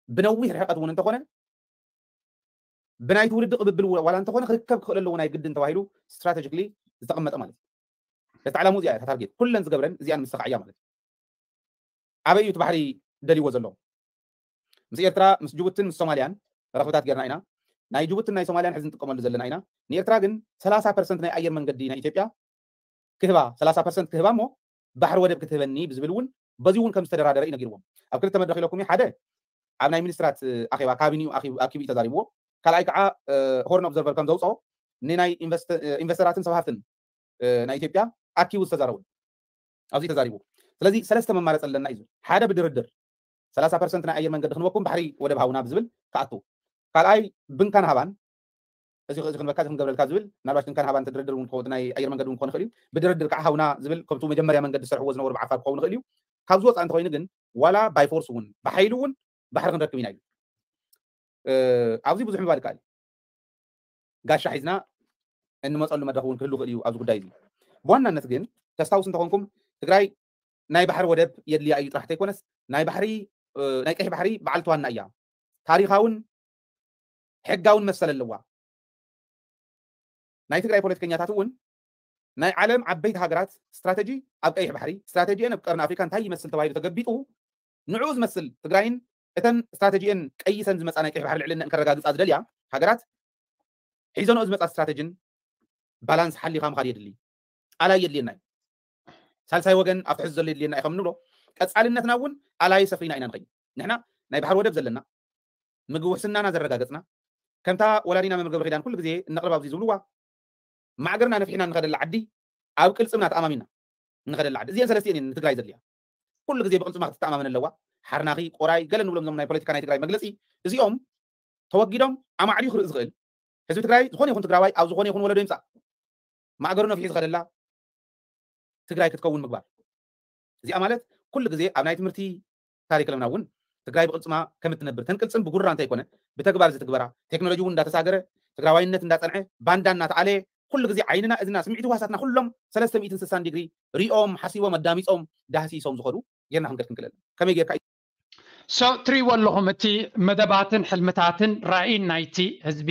ብነዊሕ ርሕቀት እውን እንተኾነ ብናይ ትውልዲ ቅብብል ዋላ እንተኾነ ክርከብ ክኽእል ኣለዎ ናይ ግድን ተባሂሉ ስትራቴጂክሊ ዝተቐመጠ ማለት እዩ። እቲ ዓላምኡ እዚኣ እያ፣ እታ ታርጌት ኩለን ዝገብረን እዚኣን ምስተኻዕያ ማለት እዩ። ኣበይ እዩ እቲ ባሕሪ ደልይዎ ዘሎ? ምስ ኤርትራ፣ ምስ ጅቡትን ምስ ሶማልያን ረኽብታት ጌርና ኢና። ናይ ጅቡትን ናይ ሶማልያን ሕዚ ንጥቀመሉ ዘለና ኢና። ንኤርትራ ግን ሰላሳ ፐርሰንት ናይ ኣየር መንገዲ ናይ ኢትዮጵያ ክህባ፣ ሰላሳ ፐርሰንት ክህባ እሞ ባሕሪ ወደብ ክትህበኒ ብዝብል እውን በዚ እውን ከም ዝተደራደረ እዩ ነጊርዎም። ኣብ ክልተ መድረኽ ኢለኩም እዩ። ሓደ ኣብ ናይ ሚኒስትራት ኣኼባ ካቢኒኡ ኣኪቡ እዩ ተዛሪብዎ። ካልኣይ ከዓ ሆርን ኦብዘርቨር ከም ዘውፅኦ ንናይ ኢንቨስተራትን ሰብ ሃፍትን ናይ ኢትዮጵያ ኣኪቡ ዝተዛረቡ ኣብዚ ተዛሪቡ። ስለዚ ሰለስተ መማረፂ ኣለና እዩ። ሓደ ብድርድር ሰላሳ ፐርሰንት ናይ ኣየር መንገዲ ክንበኩም ባሕሪ ወደብ ሃውና ብዝብል ክኣቱ። ካልኣይ ብንካን ሃባን እዚ ክንበካ እዚ ክንገብረልካ ዝብል ምናልባት ብንካን ሃባን ተድርድር እውን ክኸውን ናይ ኣየር መንገዲ እውን ክኾን ይኽእል እዩ። ብድርድር ከዓ ሃውና ዝብል ከምቱ መጀመርያ መንገዲ ዝሰርሕዎ ዝነበሩ ብዓፋር ክኸውን ይኽእል እዩ። ካብዚ ወፃኢ እንተኮይኑ ግን ዋላ ባይ ፎርስ እውን ብሓይሊ እውን ባሕሪ ክንረክብ ኢና እዩ። ኣብዚ ብዙሕ ምባል ይከኣል። ጋሻ ሒዝና እንመፀሉ መድረኽ እውን ክህሉ ይኽእል እዩ ኣብዚ ጉዳይ እዚ። ብዋናነት ግን ተስታውስ እንተኾንኩም ትግራይ ናይ ባሕሪ ወደብ የድልያ እዩ ጥራሕ ተይኮነስ ናይ ባሕሪ ናይ ቀይሕ ባሕሪ በዓልቲ ዋና እያ። ታሪኻውን ሕጋውን መሰል ኣለዋ። ናይ ትግራይ ፖለቲከኛታት እውን ናይ ዓለም ዓበይቲ ሃገራት ስትራተጂ ኣብ ቀይሕ ባሕሪ ስትራተጂአን ኣብ ቀርኒ ኣፍሪካ እንታይ ይመስል ተባሂሉ ተገቢጡ ንዕኡ ዝመስል ትግራይን እተን ስትራተጂአን ቀይሰን ዝመፃ ናይ ቀይሕ ባሕሪ ልዕልነን ከረጋግፃ ዝደልያ ሃገራት ሒዘንኦ ዝመፃ ስትራተጂን ባላንስ ሓሊኻ ምኻድ የድሊ። ኣላይ የድልየና እዩ። ሳልሳይ ወገን ኣብቲ ሕዚ ዘሎ የድልየና እዩ ከም ንብሎ ቀፃልነትና እውን ኣላይ ሰፍሪና ኢና ንኸይድ። ንሕና ናይ ባሕሪ ወደብ ዘለና ምግቢ ውሕስናና ዘረጋገፅና ከምታ ወላዲና መምህር ገብረ ኪዳን ኩሉ ግዜ እነቕርብ ኣብዚ ዝብልዋ ማዕገርና ነፊሕና ንኸደላ ዓዲ ኣብ ቅልፅምና ተኣማሚና ንኸደላ ዓዲ እዚአን ሰለስቲአን እየን ንትግራይ ዘድልያ። ኩሉ ግዜ ብቅልፅማ ክትተኣማመን ኣለዋ። ሓርናኺ ቆራይ ገለ ንብሎም ዞም ናይ ፖለቲካ ናይ ትግራይ መግለፂ እዚኦም ተወጊዶም ኣማዕድዩ ክርኢ ዝኽእል ህዝቢ ትግራይ ዝኾነ ይኹን ትግራዋይ ኣብ ዝኾነ ይኹን ወለዶ ይምፃእ ማእገሩ ነፊሑ ዝኸደላ ትግራይ ክትከውን ምግባር። እዚኣ ማለት ኩሉ ግዜ ኣብ ናይ ትምህርቲ ካሪክለምና እውን ትግራይ ብቅልፅማ ከም እትነብር ተን ቅልፅም ብጉራ እንተይኮነ ብተግባር ዝትግበራ ቴክኖሎጂ እውን እንዳተሳገረ ትግራዋይነት እንዳፀንዐ ባንዳ እናተኣለየ ኩሉ ግዜ ዓይንና እዝና ስምዒት ህዋሳትና ኩሎም ሰለስተ ሚእትን ስሳን ዲግሪ ሪኦም ሓሲቦም ኣዳሚፆም ዳህሲሶም ዝኸዱ ጌርና ክንገድ ክንክእል ከመይ ጌርካ so ትሪእዎ ኣለኹም እቲ መደባትን ሕልምታትን ራእይን ናይቲ ህዝቢ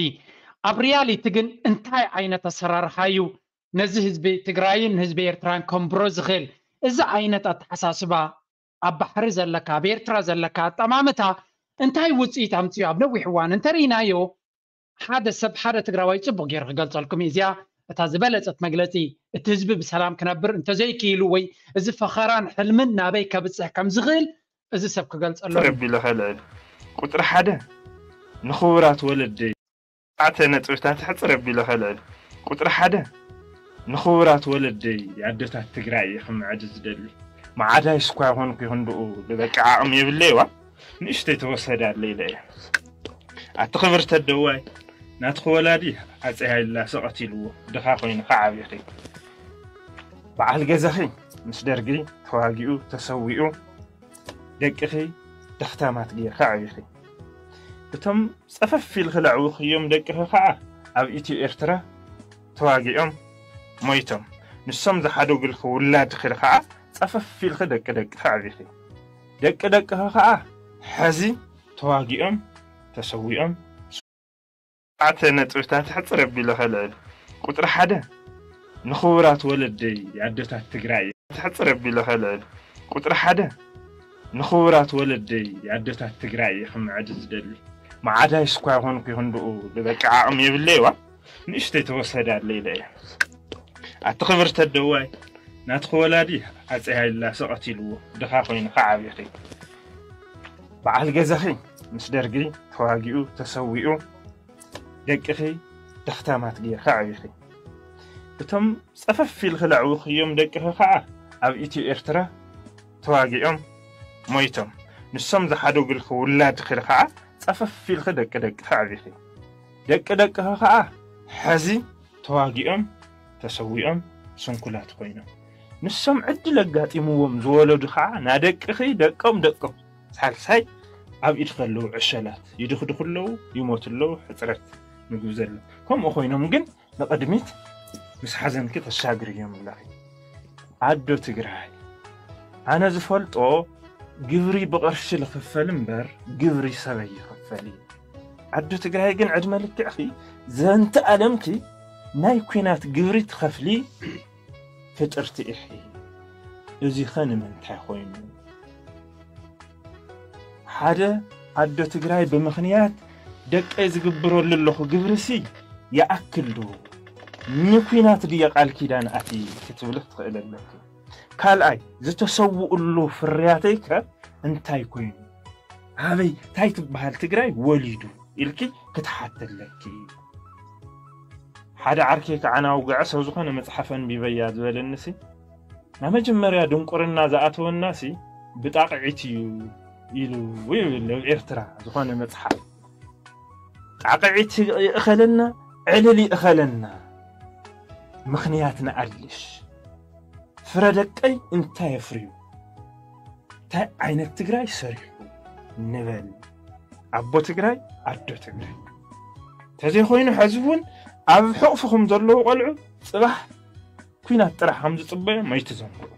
ኣብ ሪያሊቲ ግን እንታይ ዓይነት ኣሰራርሓ እዩ ነዚ ህዝቢ ትግራይን ህዝቢ ኤርትራን ከንብሮ ዝኽእል እዚ ዓይነት ኣተሓሳስባ ኣብ ባሕሪ ዘለካ ኣብ ኤርትራ ዘለካ ኣጠማምታ እንታይ ውፅኢት ኣምፅኡ ኣብ ነዊሕ እዋን እንተርኢናዮ ሓደ ሰብ ሓደ ትግራዋይ ፅቡቅ ገይሩ ክገልፀልኩም እዩ እዚኣ እታ ዝበለፀት መግለፂ እቲ ህዝቢ ብሰላም ክነብር እንተዘይክኢሉ ወይ እዚ ፈኸራን ሕልምን ናበይ ከብፅሕ ከም ዝኽእል እዚ ሰብ ክገልፀሉ ረቢ ለኸልዕል ቁፅሪ ሓደ ንኽቡራት ወለደይ ኣተ ነጥብታት ሕፅር ኣቢለ ከልዕል ቁፅሪ ሓደ ንኽቡራት ወለደይ ኣደታት ትግራይ እየ ክምዕድ ዝደሊ መዓዳይ ስኳ ይኾንኩ ይኽንድኡ ልበቂ ዓቕሚ የብለይዋ ንእሽተይ ተወሰደ ኣለ ኢለ እየ ኣቲ ክብርቲ ኣደዋይ ናትኺ ወላዲ ኣፀይ ሃይላሰ ቀቲልዎ ድኻ ኮይኑ ከዓቢኺ በዓል ገዛኺ ምስ ደርጊ ተዋጊኡ ተሰዊኡ ደቅኺ ደኽታማት ጌርካ ዓቢኺ እቶም ፀፈፍ ኢልኺ ለዕውኽዮም ደቅኺ ከዓ ኣብ ኢትዮ ኤርትራ ተዋጊኦም ሞይቶም ንሶም ዝሓደጉልኺ ውላድኺ ከዓ ፀፈፍ ኢልኺ ደቂ ደቅኺ ዓቢኺ ደቂ ደቅኺ ከዓ ሐዚ ተዋጊኦም ተሰዊኦም ኣተ ነጥብታት ሕፅር ኣቢለ ከልዕል ቁፅሪ ሓደ ንኽቡራት ወለደይ ኣደታት ትግራይ ሕፅር ኣቢለ ከልዕል ቁፅሪ ሓደ ንኽቡራት ወለደይ ኣደታት ትግራይ እየ ክምዕድ ዝደሊ መዓዳይ ስኳ ይኾንኩ ይኽንድኡ ልበቂ ዓቕሚ የብለይዋ ንእሽተይ ተወሰደ ኣለ ኢለ እየ ኣቲ ክብርቲ ኣደዋይ ናትኺ ወላዲ ኣፀይ ሃይላሰ ቀቲልዎ ድኻ ኮይኑ ከዓቢኺ በዓል ገዛኺ ምስ ደርጊ ተዋጊኡ ተሰዊኡ ደቅኺ ደኽታማት ጌርካ ዓቢኺ እቶም ፀፈፍ ኢልኺ ለዕውኽዮም ደቅኺ ከዓ ኣብ ኢትዮ ኤርትራ ተዋጊኦም ሞይቶም ንሶም ዝሓደጉልኺ ውላድኺ ከዓ ፀፈፍ ኢልኺ ደቂ ደቅኺ ዓቢኺ ደቂ ደቅኺ ከዓ ሐዚ ተዋጊኦም ተሰዊኦም ስንኩላት ኮይኖም ንሶም ዕድል ኣጋጢምዎም ዝወለዱ ከዓ ናደቅኺ ደቆም ደቆም ሳልሳይ ኣብ ኢድ ከለዉ ዕሸላት ይድኽድኹ ኣለዉ ይሞቱ ኣለዉ ሕፅረት ምግቢ ዘሎ ከምኡ ኮይኖም ግን ንቕድሚት ምስ ሓዘንኪ ተሻግርዮም ኣለኺ ኣዶ ትግራይ ኣነ ዝፈልጦ ግብሪ ብቕርሺ ልኽፈል እምበር ግብሪ ሰበይ ይኽፈል እዩ። ዓዱ ትግራይ ግን ዕድመ ልክዕኺ ዘንተ ኣለምኪ ናይ ኲናት ግብሪ ትኸፍሊ ፍጥርቲ ኢኺ። እዚኸ ንምንታይ ኮይኑ? ሓደ ዓዶ ትግራይ ብምኽንያት ደቀይ ዝግብረሉ ኣለኹ ግብርሲ ይኣክል ዶ? ንኲናት ድየ ቃል ኪዳን ኣቲ ክትብሊ ክትኽእል ኣለኪ። ካልኣይ ዝተሰውእሉ ፍርያተይ ከ እንታይ ኮይኑ? ኣበይ ታይ ትበሃል ትግራይ ወሊዱ ኢልኪ ክትሓቲ ኣለኪ። ሓደ ዓርከይ ከዓና ውግዐ ሰብ ዝኾነ መፅሓፍ ኣንቢበያ ዝበለንሲ ናብ መጀመርያ ድንቁርና ዝኣተወናሲ ብጣቕዒት እዩ ኢሉ ይብል ኣብ ኤርትራ ዝኾነ መፅሓፍ። ጣቕዒት ይእኸለና፣ ዕልል ይእኸለና፣ ምኽንያት ንኣልሽ። ፍረ ደቀይ እንታይ የፍርዩ? እንታይ ዓይነት ትግራይ ሰሪሑ ንበል። ኣቦ ትግራይ፣ ኣዶ ትግራይ። ተዘይኮይኑ ሕዚ እውን ኣብ ሕቕፍኹም ዘለዉ ቆልዑ ፅባሕ ኲናት ጥራሕ ከም ዝፅበዮም ኣይትዘንግዑ።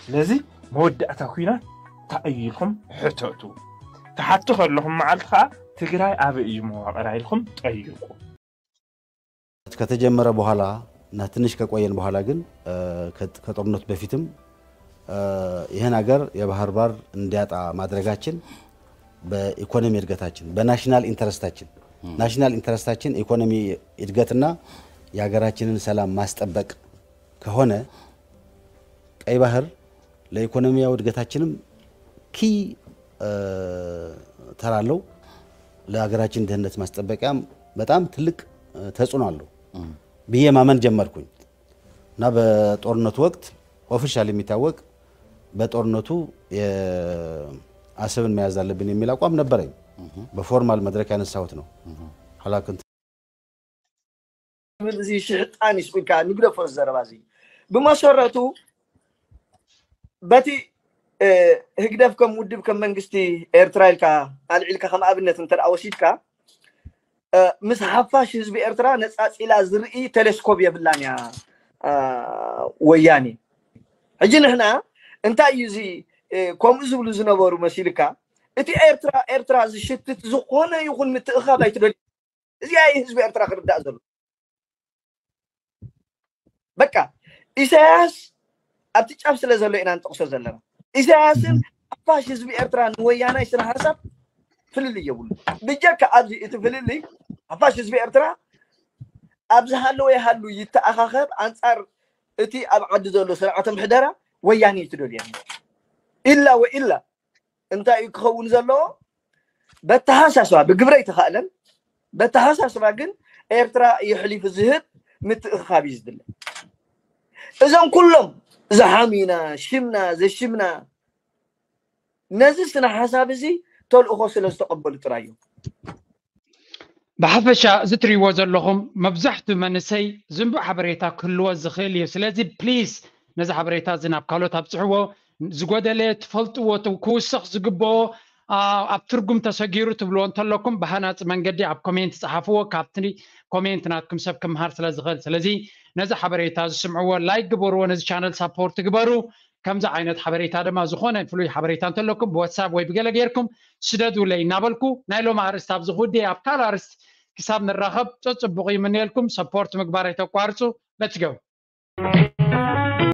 ስለዚ መወዳእታ ኲናት እንታይ እዩ ኢልኩም ሕተቱ። ትሓቱ ከለኹም መዓልቲ ከዓ ትግራይ ኣበይ እዩ መዋቕራ ኢልኩም ጠይቁ። ከተጀመረ በኋላ እና ትንሽ ከቆየን በኋላ ግን ከጦርነቱ በፊትም ይህን ሀገር የባህር በር እንዲያጣ ማድረጋችን በኢኮኖሚ እድገታችን በናሽናል ኢንተረስታችን ናሽናል ኢንተረስታችን ኢኮኖሚ እድገትና የሀገራችንን ሰላም ማስጠበቅ ከሆነ ቀይ ባህር ለኢኮኖሚያዊ እድገታችንም ኪ ተራ አለው። ለሀገራችን ደህንነት ማስጠበቂያም በጣም ትልቅ ተጽዕኖ አለው ብዬ ማመን ጀመርኩኝ እና በጦርነቱ ወቅት ኦፊሻል የሚታወቅ በጦርነቱ አሰብን መያዝ አለብን የሚል አቋም ነበረኝ። በፎርማል መድረክ ያነሳሁት ነው። ኋላ ግን ትብል እዚ ሽሕጣን ይስቁልካ ንግደፎ ዘረባ እዚ ብመሰረቱ በቲ ህግደፍ ከም ውድብ ከም መንግስቲ ኤርትራ ኢልካ ኣልዒልካ ከም ኣብነት እንተ ወሲድካ ምስ ሓፋሽ ህዝቢ ኤርትራ ነፃፂላ ዝርኢ ቴሌስኮፕ የብላን እያ ወያኔ። ሕጂ ንሕና እንታይ እዩ እዚ ከምኡ ዝብሉ ዝነበሩ መሲልካ እቲ ኤርትራ ኤርትራ ዝሽትት ዝኾነ ይኹን ምትእኻብ ኣይትደልዩ። እዚኣ እዩ ህዝቢ ኤርትራ ክርዳእ ዘሎ። በቃ ኢሳያስ ኣብቲ ጫፍ ስለ ዘሎ ኢና ንጠቕሶ ዘለና። ኢሳያስን ሓፋሽ ህዝቢ ኤርትራ ንወያናይ ስነ ሓሳብ ፍልልይ የብሉ። ብጀካ ኣብዚ እቲ ፍልልይ ሓፋሽ ህዝቢ ኤርትራ ኣብ ዝሃለወ ይሃሉ ይተኣኻኸብ ኣንጻር እቲ ኣብ ዓዲ ዘሎ ስርዓተ ምሕደራ ወያኔ እዩ ትደልያ ኢላ ወኢላ እንታይ እዩ ክኸውን ዘለዎ? በተሓሳስባ ብግብረ ኣይተኻእለን። በተሓሳስባ ግን ኤርትራ የሕሊፉ ዝህብ ምትእኽኻብ እዩ ዝድለ። እዞም ኩሎም ዝሓሙና ሽምና ዘሽምና ነዚ ስነ ሓሳብ እዚ ተልእኾ ስለ ዝተቐበሉ ጥራይ እዮም። ብሓፈሻ እዚ ትሪእዎ ዘለኹም መብዛሕትኡ መንእሰይ ዝንቡዕ ሓበሬታ ክህልዎ ዝኽእል እዩ። ስለዚ ፕሊስ ነዚ ሓበሬታ እዚ ናብ ካልኦት ኣብፅሕዎ። ዝጎደለ ትፈልጥዎ ክውስኽ ዝግብኦ ኣብ ትርጉም ተሰጊሩ ትብልዎ እንተለኩም ብሃናፂ መንገዲ ኣብ ኮሜንት ፀሓፍዎ። ካብቲ ኮሜንት ናትኩም ሰብ ክምሃር ስለ ዝኽእል። ስለዚ ነዚ ሓበሬታ ዝስምዕዎ ላይክ ግበርዎ፣ ነዚ ቻነል ሳፖርት ግበሩ። ከምዚ ዓይነት ሓበሬታ ድማ ዝኾነ ፍሉይ ሓበሬታ እንተለኩም ብዋትሳፕ ወይ ብገለ ጌርኩም ስደዱለይ እናበልኩ ናይ ሎሚ ኣርእስቲ ኣብዚ ክውድእ ኣብ ካልእ ኣርእስቲ ክሳብ ንራኸብ ፀፅቡቕ ይምነየልኩም። ሰፖርት ምግባር ኣይተቋርፁ። Let's go።